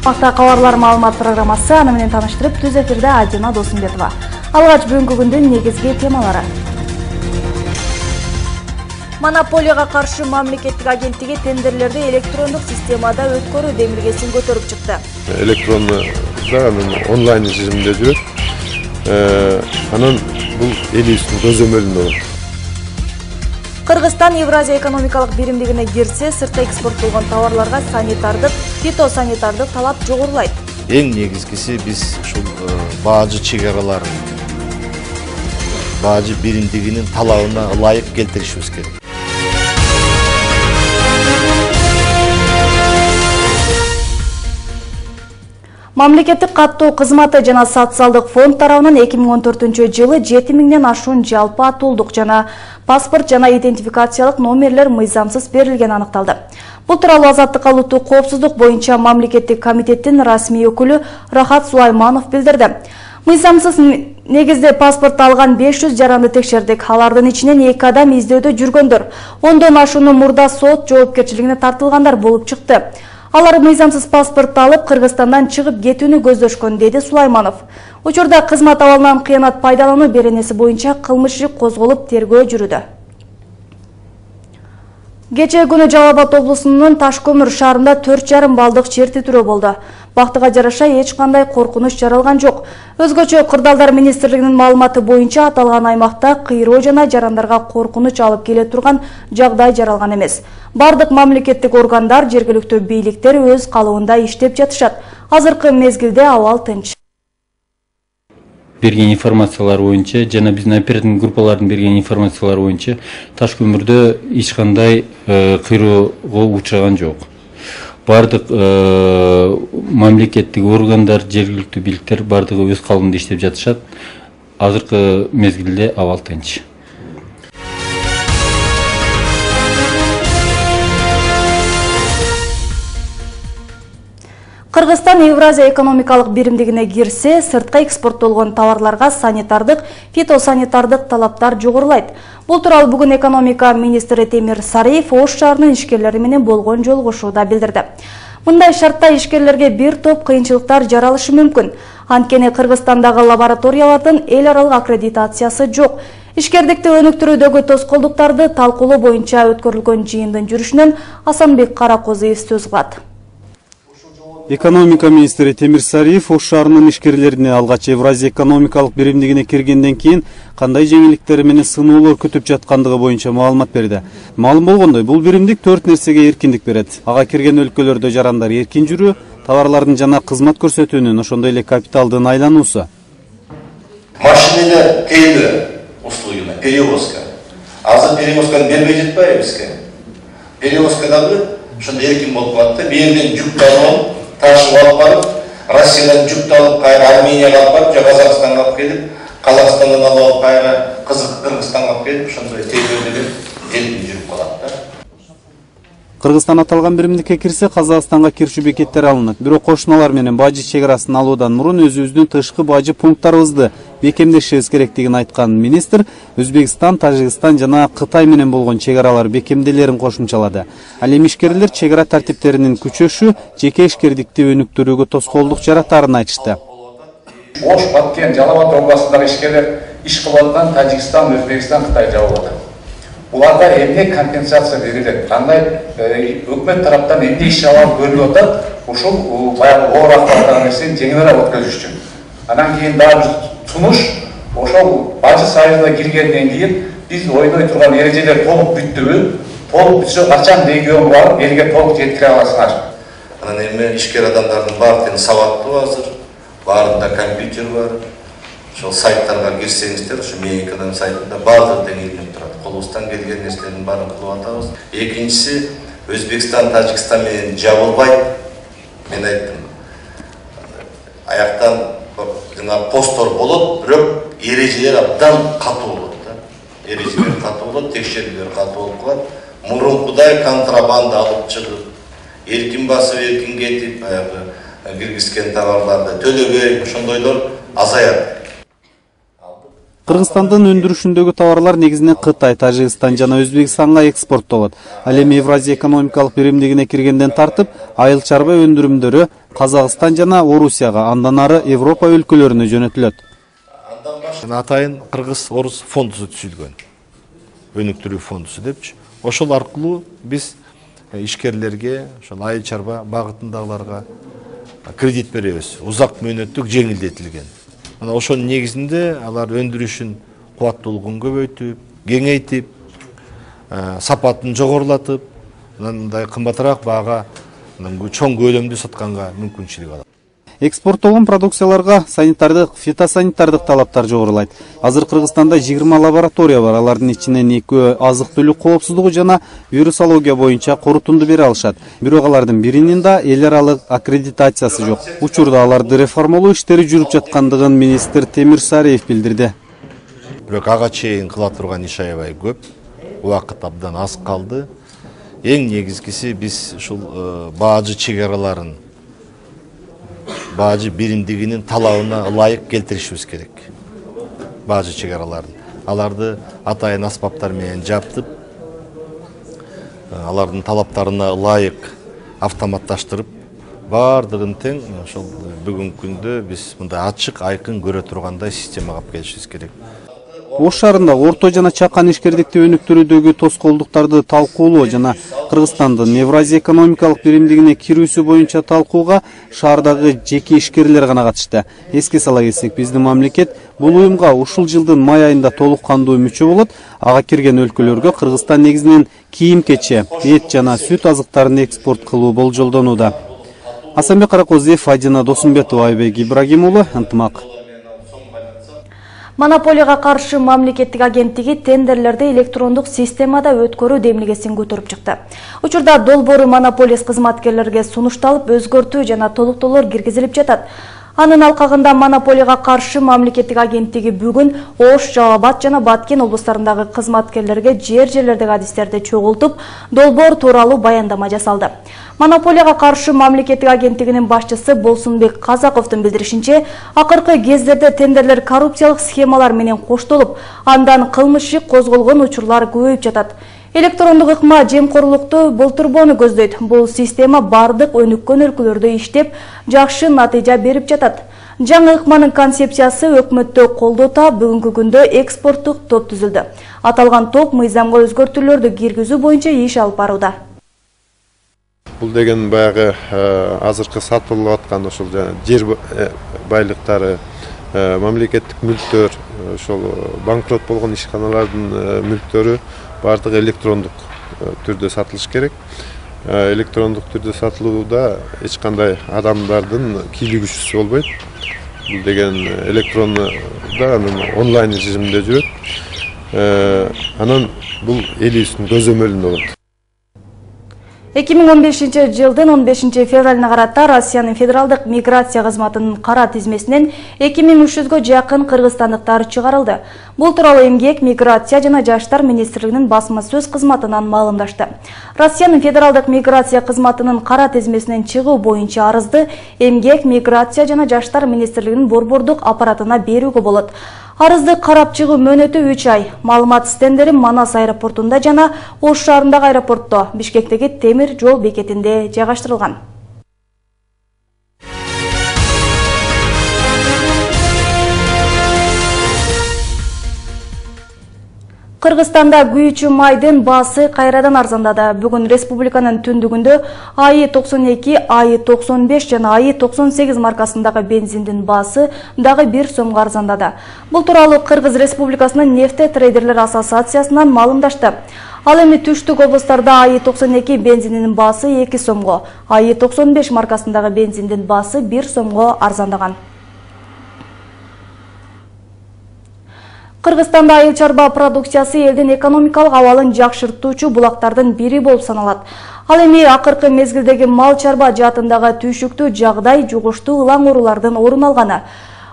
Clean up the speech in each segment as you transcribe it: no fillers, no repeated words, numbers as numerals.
Вакытта кабарлар маалымат программасы аны менен таныштырып, түз эфирде Альбина Досумбетова. Алгач бүгүнкү күндүн негизги темалары. Монополияга каршы мамлекеттик агенттиги тендерлерди электрондук системада өткөрүү демилгесин көтөрүп чыкты. Электронду онлайн режимде жүрөт. Анан бул элибиздин көзөмөлүндө болот. Кыргызстан Евразия экономикалык биримдигине кирсе, сыртка экспорттолгон товарларга санитардык, фитосанитардык талап жогорулайт. Эң негизгиси биз ушул баажы чегараларын, баажы биримдигинин талабына ылайык келтиришибиз керек. Мамлекеттик каттоо кызматы жана социалдык фонд тарабынан 2014-жылы 7000ден ашуун жалпы атуулдук жана паспорт жана идентификациялык номерлер мыйзамсыз берилгени аныкталды. Бул тууралуу Азаттыкка улуттук коопсуздук боюнча мамлекеттик комитеттин расмий өкүлү Рахат Сулайманов билдирди. Мыйзамсыз негизде паспорт алган 500 жаранды текшердик. Алардын ичинен 2 адам издөөдө жүргөндөр, 10дон ашууну мурда сот жоопкерчилигине тартылгандар болуп чыкты. Алар мыйзамсыз паспорт алып, Кыргызстандан чыгып кетүүнү көздөшкөн, деди Сулайманов. Учурда кызмат абалынан кыянат пайдалануу беренеси боюнча кылмыш иши козголуп, тергөө жүрүүдө. Кечээ күнү Жалал Абад облусунун Ташкөмүр шаарында 4,5 балдык жер титирөө болду. Бактыга жараша эч кандай коркунуч жаралган жок. Өзгөчө Кырдаалдар министрлигинин маалыматы боюнча аталган аймакта кыйроо жана жарандарга коркунуч алып келе турган жагдай жаралган эмес. Бардык мамлекеттик органдар, жергиликтүү бийликтер өз калыбында иштеп жатышат. Азыркы мезгилде абал тынч. Берген информациялар боюнча жана биздин оперативдик группалардын берген информациялар боюнча Ташкөмүрдө эч кандай кыйроого учураган жок. Бардык мамлекеттик органдар, жергиликтүү бийликтер бардыгы өз калыбында иштеп жатышат. Азыркы мезгилде абал тынч. Кыргызстан Евразия экономикалык биримдигине кирсе, сыртка экспорттолгон товарларга санитардык, фитосанитардык талаптар жогорулайт. Бул тууралуу бүгүн экономика министри Темир Сариев Ош шаарынын ишкерлери менен болгон жолугушууда билдирди. Мындай шартта ишкерлерге бир топ кыйынчылыктар жаралышы мүмкүн. Анткени Кыргызстандагы лабораториялардын эл аралык аккредитациясы жок. Ишкердикти өнүктүрүүдөгү тоскоолдуктарды талкуулоо боюнча өткөрүлгөн жыйындын жүрүшүнөн Асанбек Каракозуев сөз кылат. Экономика министри Темир Сариев Ош шаарынын ишкерлерине алгач Евразия экономикалык биримдигине киргенден кийин кандай жеңилдиктер менен сыноолор күтүп жаткандыгы боюнча маалымат берди. Маалым болгондой, бул биримдик 4 нерсеге эркиндик берет. Ага кирген өлкөлөрдө жарандар эркин жүрүү, товарлардын жана кызмат көрсөтүүнүн, ошондой эле капиталдын айлануусу. Машинелер тейлөө услугуна, перевозка. Азыр перевозканы бербей жатпайбы бизге? Перевозка дагы ошондой эркин болуп калат да, берден жүк алып ташып алып барып, Россиядан жүк алып, кайра Арменияга алып барып, же Казакстанга алып келип, Казакстандан алып кайра Кыргызстанга алып келип, ошондой тейлөөдө эркин жүрүп калат да. Кыргызстан аталган биримдикке кирсе, Казакстанга киришүү бекеттери алынат. Бирок кошуналар менен бажы чегарасын алуудан мурун өзүбүздүн тышкы бажы пункттарыбызды бекемдешибиз керектигин айткан министр Өзбекстан, Тажикстан жана Кытай менен болгон чегаралар бекемделерин кошумчалады. Ал эми ишкерлер чегара тартиптеринин күчөшү жеке ишкердикти өнүктүрүүгө тоскоолдук жаратарын айтышты. Ош, Баткен, Жалал Абад областындагы ишкерлер иш кылып аткан Тажикстан, Өзбекстан, Кытай жабылып атат. Уларга эмне компенсация берилет? Кандай өкмөт тараптан эмне иш-чаралар көрүлүп атат? Ушул баягы оор акыбаттагы нерсени жеңилирээк өткөзүш үчүн. Анан кийин дагы сунуш, ошол бажы союзуна киргенден кийин биз ойной турган эрежелер толук бүттүбү? Толук бүтсө качан регион барып элге толук жеткире аласыңар? Анан эми ишкер адамдардын баардыгы сабаттуу азыр, баарында компьютер бар. Ошол сайттарга кирсеңиздер, ошо Мейкадан сайтында баардыгы тең илинип турат. Колубуздан келген нерселердин баарын кылып атабыз. Экинчиси, Өзбекстан, Тажикстан менен жабылбайт. Мен айттым. Аяктан жана посттор болот, бирок эрежелер абдан катуу болот да. Эрежелер катуу болот, текшерүүлөр катуу болуп калат. Мурункудай контрабанда алып чыгып, эркин басып, эркин кетип, баягы киргизген товарларды төлөбөй, ошондойлор азаят. Кыргызстандын өндүрүшүндөгү товарлар негизинен Кытай, Тажикстан жана Өзбекстанга экспорттолот. Ал эми Евразия экономикалык биримдигине киргенден тартып, айыл чарба өндүрүмдөрү Казакстан жана Орусияга, андан ары Европа өлкөлөрүнө жөнөтүлөт. Атайын Кыргыз-Орус фондусу түзүлгөн. Өнүктүрүү фондусу депчи. Ошол аркылуу биз ишкерлерге, ошол айыл чарба багытындагыларга кредит беребиз. Узак мөөнөттүк жеңилдетилген. Ошонун негизинде алар өндүрүшүн кубаттуулугун көбөйтүп, кеңейтип, сапатын жогорулатып, мындай кымбатыраак баага чоң көлөмдүү сатканга мүмкүнчүлүк алат. Экспорттолгон продукцияларга санитардык, фитосанитардык талаптар жогорулайт. Азыр Кыргызстанда 20 лаборатория бар. Алардын ичинен 2 азык-түлүк коопсуздугу жана вирусология боюнча корутунду бере алышат. Бирок алардын биринин да эл аралык аккредитациясы жок. Учурда аларды реформалоо иштери жүрүп жаткандыгын министр Темир Сариев билдирди. Бирок ага чейин кыла турган иш аябай көп. Убакыт абдан аз калды. Эң негизгиси биз ушул баажы чегараларын баажы биримдигинин талабына ылайык келтиришибиз керек. Баажы чегараларын. Аларды атайын аспаптар менен жаптып, алардын талаптарына ылайык автоматташтырып, бардыгын тең ошол бүгүнкү күндө биз мындай ачык, айкын көрө тургандай системага алып келишибиз керек. Ош шаарында орто жана чакан ишкердикти өнүктүрүүдөгү тоскоолдуктарды талкуулоо жана Кыргызстандын Евразия экономикалык биримдигине кирүүсү боюнча талкууга шаардагы жеке ишкерлер гана катышты. Эске сала кетсек, биздин мамлекет бул уюмга ушул жылдын май айында толук кандуу мүчө болот. Ага кирген өлкөлөргө Кыргызстан негизинен кийим-кече, эт жана сүт азыктарын экспорт кылуу болжолдонууда. Асанбек Каракозиев, Фадина Досумбетова, Айбек Ибрагимулы, Ынтымак. Монополияга каршы мамлекеттик агенттиги тендерлерди электрондук системада өткөрүү демилгесин көтөрүп чыкты. Учурда долбоору монополист кызматкерлерге сунушталып, өзгөртүү жана толуктоолор киргизилип жатат. Анын алкагында монополияга каршы мамлекеттик агенттиги бүгүн Ош, Жалал Абад жана Баткен облустарындагы кызматкерлерге жерлердеги адистерди чогултуп, долбоор тууралуу баяндама жасалды. Монополияга каршы мамлекеттик агенттигинин башчысы Болсунбек Казаковдун билдиришинче, акыркы кездерде тендерлер коррупциялык схемалар менен коштолуп, андан кылмыш иши козголгон учурлар көбөйүп жатат. Электрондук ыкма жемкорлукту болтурбоону көздөйт. Бул система бардык өнүккөн өлкөлөрдө иштеп, жакшы натыйжа берип жатат. Жаңы ыкманын концепциясы өкмөттө колдоо таап, бүгүнкү күндө экспорттук топ түзүлдү. Аталган топ мыйзамга өзгөртүүлөрдү киргизүү боюнча иш алып барууда. Бул деген баягы азыркы сатылып аткан ошол жер байлыктары, мамлекеттик мүлктөр, ошол банкрот болгон ишканалардын мүлктөрү бардыгы электрондук түрдө сатылыш керек. Электрондук түрдө сатылууда эч кандай адамдардын кийлигүүчүсү болбойт. Бул деген электрондо онлайн режимде жүрөт. Анан бул элибиздин көзөмөлүндө болот. 2015 жылдын 15 февралына карата Россиянын федералдык миграция кызматынын кара тизмесинен 2300гө жакын кыргызстандыктар чыгарылды. Бул тууралуу Эмгек, миграция жана жаштар министрлигинин басма сөз кызматынан маалымдашты. Россиянын федералдык миграция кызматынын кара тизмесинен чыгуу боюнча арызды Эмгек, миграция жана жаштар министрлигинин борбордук аппаратына берүүгө болот. Арызды карап чыгуу мөөнөтү 3 ай. Маалымат стендери Манас аэропортунда жана Ош шаарындагы аэропортто, Бишкектеги темир жол бекетинде жайгаштырылган. Кыргызстанда күйүүчү майдын баасы кайрадан арзандады. Бүгүн республиканын түндүгүндө АИ-92, АИ-95 жана АИ-98 маркасындагы бензиндин баасы дагы 1 сомго арзандады. Бул тууралуу Кыргыз Республикасынын нефте трейдерлер ассоциациясынан маалымдашты. Ал эми түштүк облустарда АИ-92 бензининин баасы 2 сомго, АИ-95 маркасындагы бензиндин баасы 1 сомго арзандаган. Кыргызстанда айыл чарба продукциясы элдин экономикалык абалын жакшыртуучу булактардын бири болуп саналат. Ал эми акыркы мезгилдеги мал чарба жаатындагы түйшүктүү жагдай жугуштуу ылаң оорулардын орун алганы.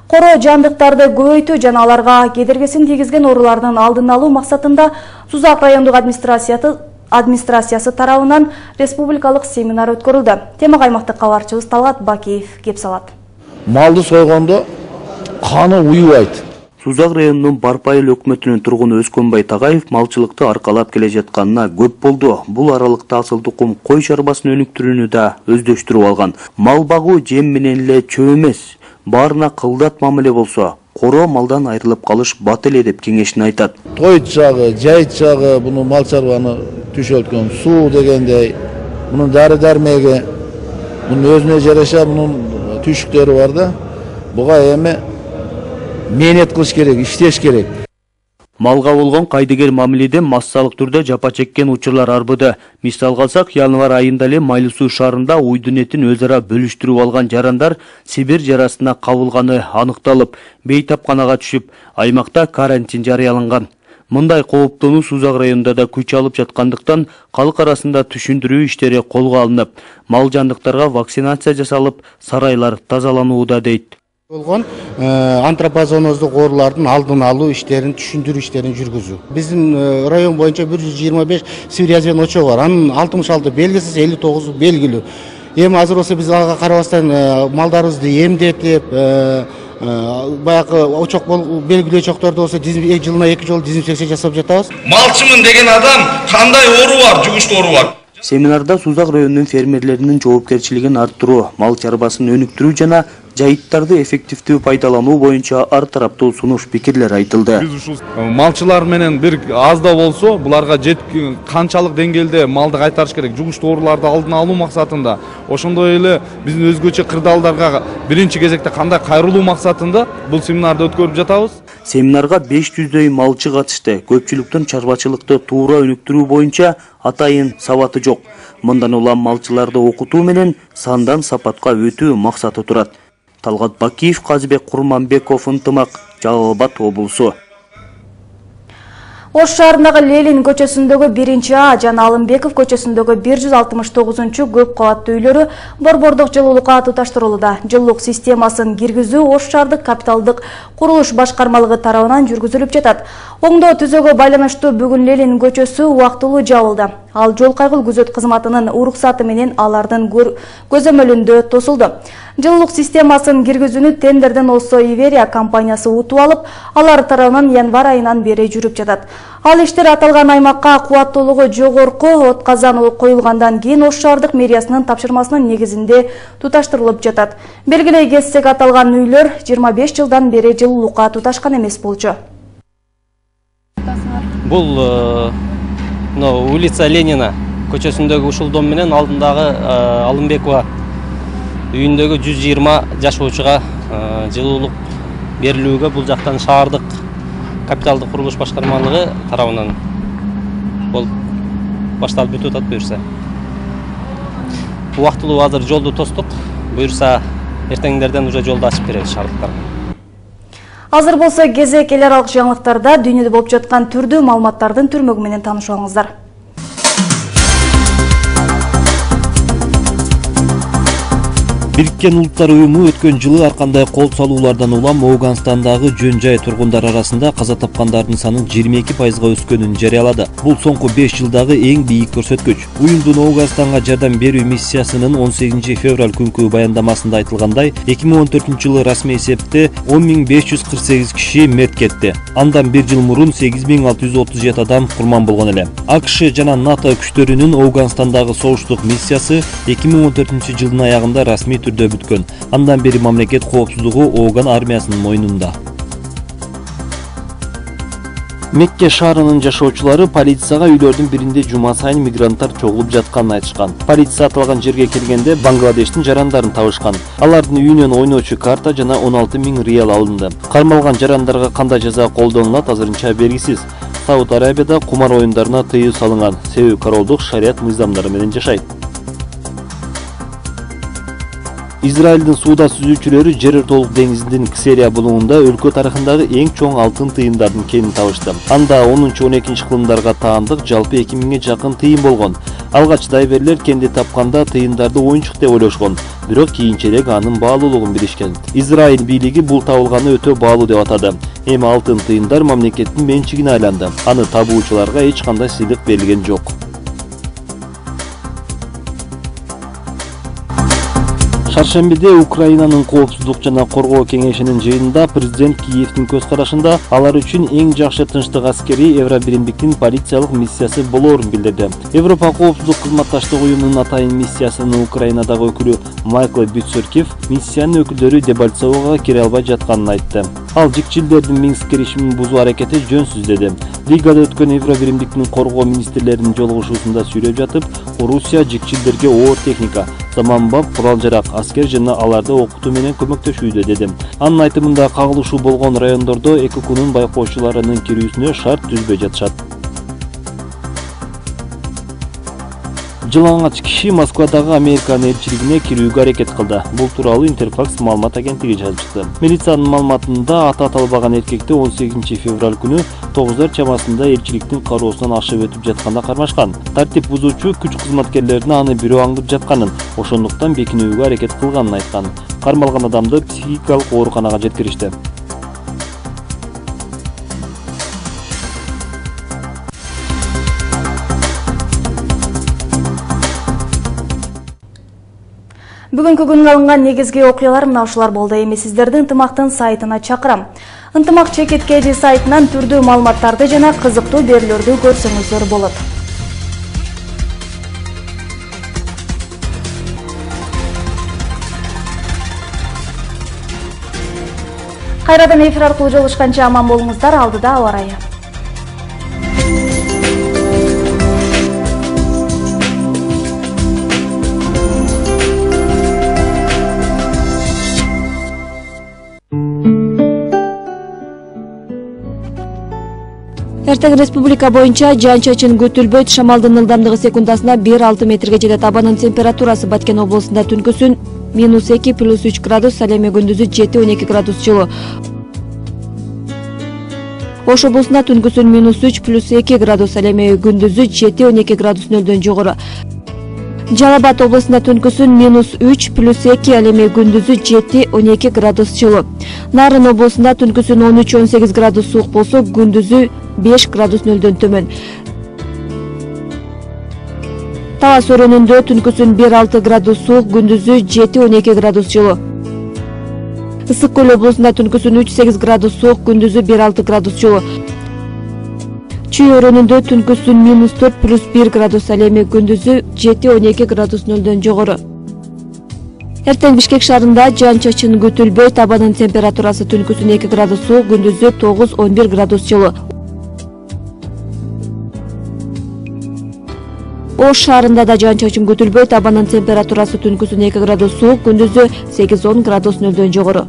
Коро жандыктарды көбөйтүү жана аларга кедергесин тийгизген оорулардын алдын алуу максатында Сузак райондук администрациясы тарабынан республикалык семинар өткөрүлдү. Темага аймактык кабарчыбыз Талгат Бакиев кеп салат. Малды сойгондо каны уюбайт. Сузак районунун Барпайыл өкмөтүнүн тургуну Өскөнбай Тагаев малчылыкты аркалап келе жатканына көп болду. Бул аралыкта асыл тукум кой чарбасын өнүктүрүүнү да өздөштүрүп алган. Мал багуу жем менен эле чөп эмес, баарына кылдат мамиле болсо, коро малдан айрылып калыш бат эле деп кеңешин айтат. Той чагы, жай чагы буну мал чарбаны түшөлткөн суу дегендей, мунун дары-дармеги, мунун өзүнө жараша мунун түшүктөрү бар да. Буга эми мээнет кылыш керек, иштеш керек. Малга болгон кайдыгер мамиледен массалык түрдө жапа чеккен учурлар арбыды. Мисалга алсак, январь айында эле Майлуу Суу шаарында уйдун этин өз ара бөлүштүрүп алган жарандар Сибир жарасына кабылганы аныкталып, бейтапканага түшүп, аймакта карантин жарыяланган. Мындай кооптонуу Сузак районунда да күч алып жаткандыктан калк арасында түшүндүрүү иштери колго алынып, мал жандыктарга вакцинация жасалып, сарайлар тазаланууда дейт. Болгон антропозоноздук оорулардын алдын алуу иштерин, түшүндүрүү иштерин жүргүзүү. Биздин район боюнча 125 сибир язбен очогу бар. Анын 66 белгисиз, 59 белгилүү. Эми азыр болсо биз ага карабастан малдарыбызды эмдетип, баягы очок белгилүү очокторду болсо жылына 2 жолу дезинфекция жасап жатабыз. Малчымын деген адам кандай оору бар, жугуштуу оору бар. Семинарда Сузак районунун фермерлеринин жоопкерчилигин арттыруу, мал чарбасын өнүктүрүү жана жайыттарды эффективдүү пайдалануу боюнча ар тараптуу сунуш пикирлер айтылды. Биз ушул малчылар менен бир аз да болсо буларга канчалык деңгээлде малды кайтарыш керек, жугуштуу ооруларды алдын алуу максатында, ошондой эле биздин өзгөчө кырдаалдарга биринчи кезекте кандай кайрылуу максатында бул семинарды өткөрүп жатабыз. Семинарга 500дөй малчы катышты. Көпчүлүктүн чарбачылыкты туура өнүктүрүү боюнча атайын сабаты жок. Мындан улам малчыларды окутуу менен сандан сапатка өтүү максаты турат. Талгат Бакиев, Казыбек Курманбеков, Ынтымак, Жалал Абад облусу. Ош шаарындагы Ленин көчөсүндөгү 1-А жана Алымбеков көчөсүндөгү 169 көп кабаттуу үйлөрү борбордук жылуулукка туташтырылууда. Жылуулук системасын киргизүү Ош шаардык капиталдык курулуш башкармалыгы тарабынан жүргүзүлүп жатат. Оңдоо түзөөгө байланыштуу бүгүн Ленин көчөсү убактылуу жабылды. Ал жол кайгыл күзөт кызматынын уруксаты менен алардын көзөмөлүндө тосулду. Жылуулук системасын киргизүүнү тендерден Осо Иверия компаниясы утуп алып, алар тарабынан январь айынан бери жүрүп жатат. Ал иштер аталган аймакка кубаттуулугу жогорку от казан коюлгандан кийин Ош шаардык мэриясынын тапшырмасынын негизинде туташтырылып жатат. Белгилей кетсек, аталган үйлөр 25 жылдан бери жылуулукка туташкан эмес болчу. Бул улица Ленина көчөсүндөгү ушул дом менен алдындагы Алымбекова үйүндөгү 120 жашоочуга жылуулук берилүүгө бул жактан шаардык капиталдык курулуш башкармалыгы тарабынан болуп башталып өтүп атат. Буюрса убактылуу азыр жолду тостук, буюрса эртеңдерден уже жолду ачып беребиз шаардыктарга. Азыр болсо кезек эл аралык жаңылыктарда дүйнөдө болуп жаткан түрдүү маалыматтардын түрмөгү менен таанышып алыңыздар. Бириккен Улуттар Уюму өткөн жылы ар кандай кол салуулардан улам Ауганстандагы жөн-жай тургундар арасында каза тапкандардын санын 22%га өскөнүн жарыялады. Бул соңку 5 жылдагы эң бийик көрсөткүч. Уюмдун Ауганстанга жардам берүү миссиясынын 18 февраль күнкү баяндамасында айтылгандай, 2014 жылы расмий эсепте 10.548 киши мерт кетти. Андан бир жыл мурун 8637 адам курман болгон эле. АКШ жана НАТО күчтөрүнүн Ауганстандагы согуштук миссиясы 2014 жылдын аягында расмий түрдө бүткөн. Андан бери мамлекет коопсуздугу Ауган армиясынын мойнунда. Мекке шаарынын жашоочулары полицияга үйлөрдүн биринде жума сайын мигранттар чогулуп жатканын айтышкан. Полиция аталган жерге келгенде Бангладештин жарандарын табышкан. Алардын үйүнөн ойночу карта жана 16 000 риал алынды. Кармалган жарандарга кандай жаза колдонулат азырынча белгисиз. Сауд Арабияда кумар оюндарына тыюу салынган. Себеби королдук шарият мыйзамдары менен жашайт. Израилдин сууда сүзүүчүлөрү Жер ортолук деңизинин Ксерия булугунда өлкө тарыхындагы эң чоң алтын тыйындардын кенин табышты. Анда 10-12 кылымдарга таандык жалпы 2000 жакын тыйын болгон. Алгач дайверлер кенди тапканда тыйындарды оюнчук деп ойлошкон, бирок кийинчерээк анын баалуулугун билишкен. Израиль бийлиги бул табылганы өтө баалуу деп атады. Эми алтын тыйындар мамлекеттин менчигине айланды. Аны табуучуларга эч кандай сыйлык берилген жок. Чаршембиде Украинанын коопсуздук жана коргоо кеңешинин жыйынында президент Киевдин көз карашында алар үчүн эң жакшы тынчтык аскери Евробиримдиктин полициялык миссиясы болоорун билдирди. Европа коопсуздук кызматташтык уюмунун атайын миссиясынын Украинадагы өкүлү Майкл Битцеркив миссиянын өкүлдөрү Дебальцевого кире албай жатканын айтты. Ал жикчилдердин Минск келишимин бузуу аракети жөнсүз деди. Ригада өткөн Евробиримдиктин коргоо министрлеринин жолугушуусунда сүйлөп жатып, Орусия жикчилдерге оор техника, заманбап курал-жарак, аскер жана аларды окутуу менен көмөктөшүүдө деди. Анын айтымында кагылышуу болгон райондордо ЭККнун байкоочуларынын кирүүсүнө шарт түзбөй жатышат. Жылаңач киши Москвадагы Американын элчилигине кирүүгө аракет кылды. Бул тууралуу Интерфакс маалымат агенттиги жазып чыкты. Милициянын маалыматында аты аталбаган эркекти 18 февраль күнү 9 чамасында элчиликтин кароосунан ашып өтүп жатканда кармашкан. Тартип бузуучу күч кызматкерлерине аны бирөө аңдып жатканын, ошондуктан бекинүүгө аракет кылганын айткан. Кармалган адамды психикалык ооруканага жеткиришти. Бүгүнкү күнгө алынган негизги окуялар мына ушулар болду. Эми сиздерди ынтымактын сайтына чакырам. Ынтымак ЧКТ сайтынан түрдүү маалыматтарды жана кызыктуу берүүлөрдү көрсөңүздөр болот. Кайрадан эфир аркылуу жолугушканча аман болуңуздар. Алдыда аба ырайы. Эртең республика боюнча жаан-чачын күтүлбөйт. Шамалдын ылдамдыгы секундасына 1-6 метрге жетет. Абанын температурасы Баткен облусунда түнкүсүн -2 +3 градус, ал эми күндүзү 7-12 градус жылуу. Ош облусунда түнкүсүн -3 +2 градус, ал эми күндүзү 7-12 градус нөлдөн жогору. Жалал Абад облусунда түнкүсүн -3 +2, ал эми күндүзү 7-12 градус жылуу. Нарын облусунда түнкүсүн 13-18 градус суук болсо, күндүзү 5 градус нөлдөн төмөн. Талас өрөөнүндө түнкүсүн 1-6 градус суук, күндүзү 7-12 градус жылуу. Ысык көл облусунда түнкүсүн 3-8 градус суук, күндүзү 1-6 градус жылуу. Чүй өрөөнүндө түнкүсүн -4 +1 градус, ал эми күндүзү 7-12 градус нөлдөн жогору. Эртең Бишкек шаарында жаан-чачын күтүлбөйт. Абанын температурасы түнкүсүн 2 градус суук, күндүзү 9-11 градус жылуу. Ош шаарында да жаан-чачын күтүлбөйт. Абанын температурасы түнкүсүн 2 градус суук, күндүзү 8-10 градус нөлдөн жогору.